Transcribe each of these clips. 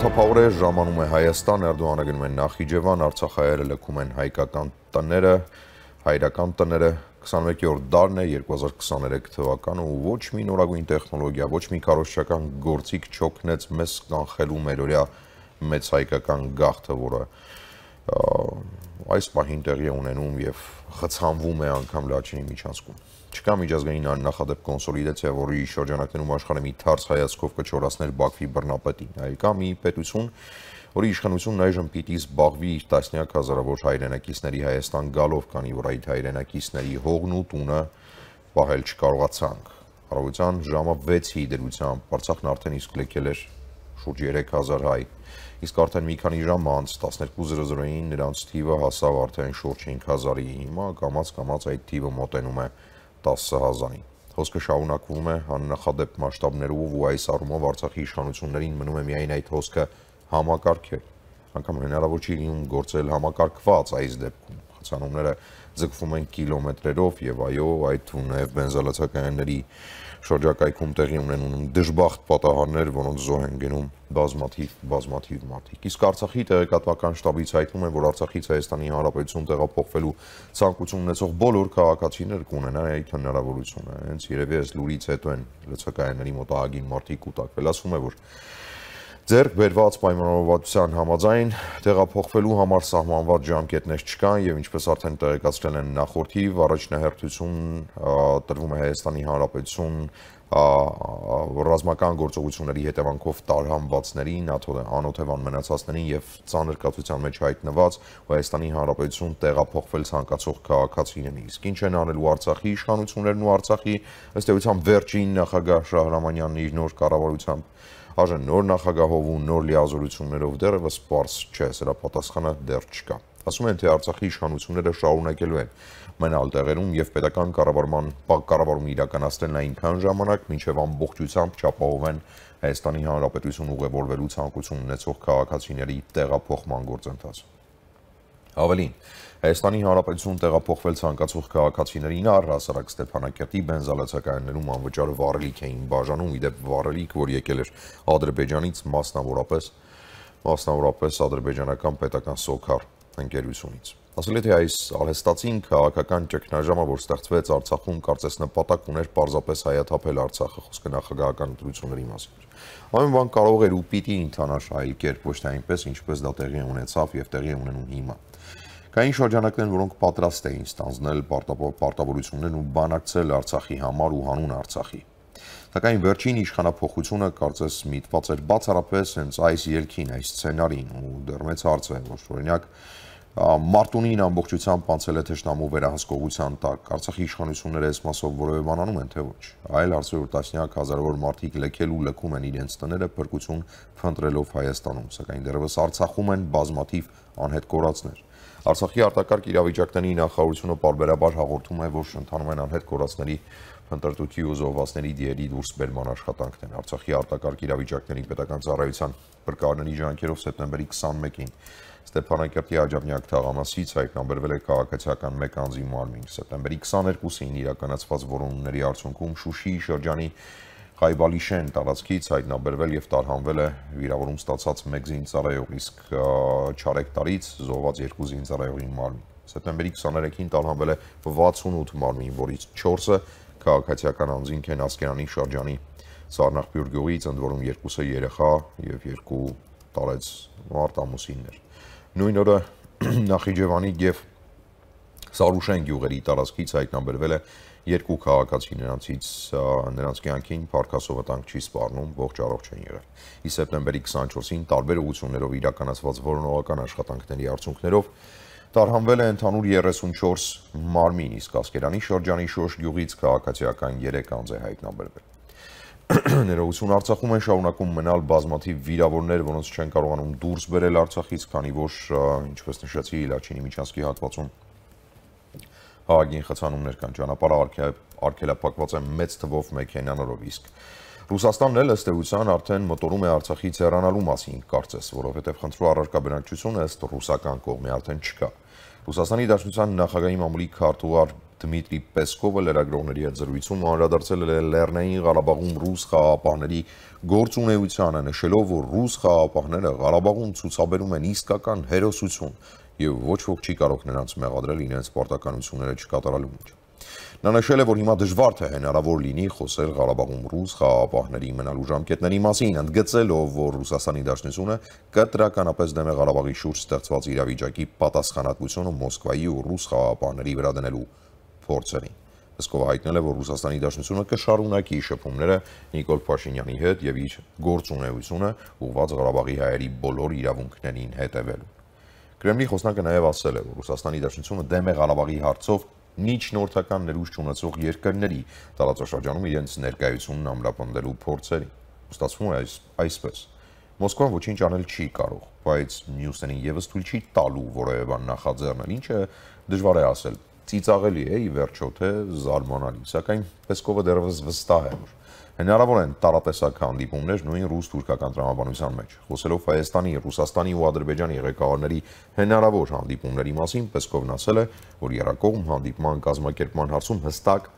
Շաբաթափաղուր է, ժամանում է Հայաստան, Էրդողանը գնում են Նախիջևան, Արցախահայերը լքում են հայկական տները, հայրական տները, 21-րդ դարն է 2023 թվականը ու ոչ մի նորագույն տեխնոլոգիա, ոչ մի քարոզչական գործիք չօգնեց մեզ կանխելու մերօրյա մեծ հայկական գաղթը, որը այս պահին տեղի է ունենում եւ խցանվում է անգամ Լաչինի միջանցքում։ Չկա միջազգային աննախադեպ կոնսոլիդացիա, որի շրջանակներում աշխարհը մի թարս հայացքով կչորացներ Բաքվի բռնապետին, այլ կա մի պետություն, որի իշխանությունն այժմ պիտի զբաղվի իր տասնյակ հազարավոր հայրենակիցների Հայաստան գալով, քանի որ այդ հայրենակիցների հողն ու տունը պահել չկարողացանք։ Առավոտյան ժամը 6-ի դրությամբ Արցախն արդեն իսկ լքել էր շուրջ 3000 հայ, իսկ արդեն մի քանի ժամ անց 12:00-ին նրանց թիվը հասավ արդեն շուրջ 5000-ի, հիմա կամաց այդ թիվը մոտենում է 10,000-ին։ Խոսքը շարունակվում է աննախադեպ մասշտաբներով ու այս առումով Արցախի իշխանություններին մնում է միայն այդ հոսքը համակարգել։ Անգամ հնարավոր չի լինում գործել համակարգված այս դեպքում։ Խցանումները ձգվում են կիլոմետրերով եւ այո, այդ թվում նաեւ բենզալացականների շրջակայքում տեղի ունենում դժբախտ պատահարներ, որոնց զոհ են գնում բազմաթիվ մարդիկ։ Իսկ Արցախի տեղեկատվական շտաբից հայտնում են, որ Արցախից Հայաստանի Հանրապետություն տեղափոխվելու ցանկություն ունեցող բոլոր քաղաքացիներ կունենան այդ հնարավորությունը։ Հենց երևի այս լուրից հետո են լցակայանների մոտ ահագին մարդիկ կուտակվել։ Ասվում է, որ ձեռք բերված պայմանավորվածության համաձայն տեղափոխվելու համար սահմանված ժամկետներ չկան եւ ինչպես արդեն տեղեկացրել են նախորդիվ առաջնահերթություն տրվում է Հայաստանի Հանրապետություն ռազմական գործողությունների հետևանքով տարհանվածներին, անօթևան մնացածներին եւ ծանր կացության մեջ հայտնված Հայաստանի Հանրապետություն տեղափոխվել ցանկացող քաղաքացիներին։ Իսկ ինչ են անելու Արցախի իշխանություններն ու Արցախի ըստ էության վերջին նախագահ Շահրամանյանն իր նոր կառավարությամբ Այժմ նոր նախագահով ու նոր լիազորություններով դեռևս պարզ չէ, սրա պատասխանը դեռ չկա։ Ասում են, թե Արցախի իշխանությունները շարունակելու են մնալ տեղերում եւ պետական կառավարում իրականացնել այնքան ժամանակ, մինչեւ ամբողջությամբ չապահովեն Հայաստանի Հանրապետություն ուղևորվելու ցանկություն ունեցող քաղաքացիների տեղափոխման գործընթացը։ Ավելին, Հայաստանի Հանրապետություն տեղափոխվել ցանկացող քաղաքացիներին առհասարակ Ստեփանակերտի բենզալացականներում անվճար վառելիք էին բաժանում, իդեպ վառելիք, որ եկել էր Ադրբեջանից, մասնավորապես ադրբեջանական պետական սոքար ընկերությունից։ Ասել է, թե այս արհեստացին քաղաքական ճգնաժամը, որ ստեղծվեց Արցախում, կարծես նպատակ ուներ պարզապես հայաթափել Արցախը, խոսքը նախագահական ընտրությունների մասին։ Ամեն բան կարող էր ու պիտի ընթանար այլ կերպ, ոչ թե այնպես, ինչպես դա տեղի ունեցավ եւ տեղի ունենում հիմա։ Կային շրջանակներ, որոնք պատրաստ էին ստանձնել պարտավորություններն ու բանակցել Արցախի համար ու հանուն Արցախի։ Սակայն վերջին իշխանափոխությունը կարծես միտված էր բացառապես հենց այս ելքին, այս սցենարին ու դեռ մեծ հարց է, որ օրինակ Մարտունին ամբողջությամբ անցել է թշնամու վերահսկողության տակ, Արցախի իշխանությունները այս մասով որևէ բան անում են, թե ոչ։ Այլ հարց է, որ տասնյակ հազարավոր մարդիկ լքել ու լքում են իրենց տները փրկություն փնտրելով Հայաստանում, սակայն դեռևս Արցախում են բազմաթիվ անհետ կորածներ։ Արցախի արտակարգ իրավիճակների նախարարությունը պարբերաբար հաղորդում է, որ ընթանում են անհետ կորածների փնտրտուքի ու զոհվածների դիերի դուրսբերման աշխատանքներ։ Արցախի արտակարգ իրավիճակների պետական ծառայության բրկարարների ջանքերով սեպտեմբերի 21-ին Ստեփանակերտի Աջափնյակ թաղամասից հայտնաբերվել է քաղաքացիական մեկ անձի մարմին։ Սեպտեմբերի 22-ին իրականացված որոնումների արդյունքում Շուշիի շրջանի Խայբալիշեն տարածքից հայտնաբերվել եւ տարհանվել է վիրավորում ստացած մեկ զինծառայող, իսկ Չարեկտարից զոհված 2 զինծառայողի մարմին։ Սեպտեմբերի 23-ին տարհանվել է 68 մարմին, որից 4-ը քաղաքացիական անձինք են Ասկերանի շրջանի Սառնախբյուր գյուղից, ընդ որում 2-ը երեխա եւ 2 տարեց մարդ ամուսիններ։ Նույն օրը Նախիջևանի եւ Սարուշեն գյուղերի տարածքից հայտնաբերվել է 2 քաղաքացի, նրանց կյանքին Փարքասով վտանգ չի սպառնում, ողջ առողջ են եղել։ Իսկ սեպտեմբերի 24-ին տարբեր ուղղություններով իրականացված որոնողական աշխատանքների արդյունքներով տարհանվել է ընդհանուր 34 մարմին, իսկ Ասկերանի շրջանի Շոշ գյուղից քաղաքացիական 3 անձ է հայտնաբերվել։ Ներողություն, Արցախում են շարունակում մնալ բազմաթիվ վիրավորներ, որոնց չեն կարողանում դուրս բերել Արցախից, քանի որ, ինչպես նշեցի, Լաչինի միջանցքի հատվածում ահագին խցանումներ կան, ճանապարհը արգելափակված է մեծ թվով մեքենաներով, իսկ Ռուսաստանն էլ ըստ էության արդեն մտորում է Արցախից հեռանալու մասին, կարծես, որովհետև խնդրու առարկա բնակչությունը ըստ ռուսական կողմի արդեն չկա։ Ռուսաստանի Դաշնության նախագահի մամուլի քարտուղար Դմիտրի Պեսկովը լրագրողների հետ զրույցում անդրադարձել է Լեռնային Ղարաբաղում ռուս խաղաղապահների գործունեությանը, նշելով, որ ռուս խաղաղապահները Ղարաբաղում ցուցաբերում են իսկական հերոսություն եւ ոչ ոք չի կարող նրանց մեղադրել իրենց պարտականությունները չկատարելու մեջ։ Նա նշել է, որ հիմա դժվար թե հնարավոր լինի խոսել Ղարաբաղում ռուս խաղաղապահների մնալու ժամկետների մասին, ընդգծելով, որ Ռուսաստանի Դաշնությունը կտրականապես դեմ է Ղարաբաղի շուրջ ստեղծված իրավիճակի պատասխանատվությունը Մոսկվայի ու ռուս խաղաղապահների վրա դնելու փորձերին։ Պեսկովը հայտնել է, որ Ռուսաստանի Դաշնությունը կշարունակի շփումները Նիկոլ Փաշինյանի հետ եւ իր գործունեությունը ուղղված Ղարաբաղի հայերի բոլոր իրավունքներին հետևելու։ Կրեմլի խոսնակը նաեւ ասել է, որ Ռուսաստանի Դաշնությունը դեմ է Ղարաբաղի հարցով միջնորդական ներուժ չունեցող երկրների տարածաշրջանում իրենց ներկայությունն ամրապնդելու փորձերին։ Ստացվում է այսպես. Մոսկվան ոչինչ անել չի կարող, բայց մյուսներին եւս թույլ չի տալու որևէ բան նախաձեռնել, ինչը դժվար է ասել, ծիծաղելի է ի վերջո թե զարմանալի, սակայն Պեսկովը դեռևս վստահ է, որ հնարավոր են տարատեսակ հանդիպումներ նույն ռուս-թուրքական տրամաբանության մեջ։ Խոսելով Հայաստանի, Ռուսաստանի ու Ադրբեջանի ղեկավարների հնարավոր հանդիպումների մասին, Պեսկովն ասել է, որ եռակողմ հանդիպման կազմակերպման հարցում հստակ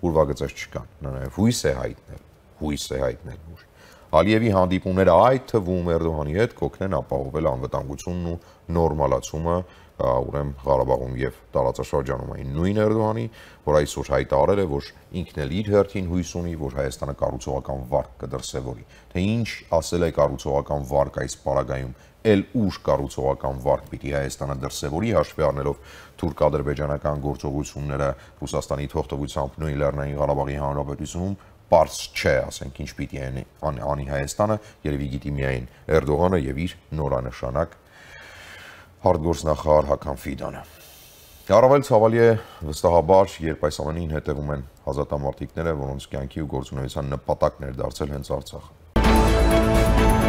ուրվագծեր չկան։ Նա նաև հույս է հայտնել, որ Ալիևի հանդիպումները այդ թվում Էրդողանի հետ կօգնեն ապահովել անվտանգությունն ու նորմալացումը ուրեմն Ղարաբաղում եւ տարածաշրջանում այն նույն Էրդողանի, որ այսօր հայտարարել է, որ ինքն էլ իր հերթին հույս ունի, որ Հայաստանը կառուցողական վարկ կդրսևորի։ Թե ինչ ասել է կառուցողական վարկ այս պարագայում, ել ուժ կառուցողական վարկ պիտի Հայաստանը դրսևորի հաշվի առնելով թուրք-ադրբեջանական գործողությունները Ռուսաստանի թողտվությամբ նույն Լեռնային Ղարաբաղի Հանրապետությունում Պարզ չէ, ասենք, ինչ պիտի անի Հայաստանը, երևի գիտի միայն Էրդողանը եւ իր նորանշանակ արտգործնախարար Հական Ֆիդանը։ Առավել ցավալի է վստահաբար, երբ այս ամենին հետևում են ազատամարտիկները, որոնց կյանքի ու գործունեության նպատակն էր դարձել հենց Արցախը։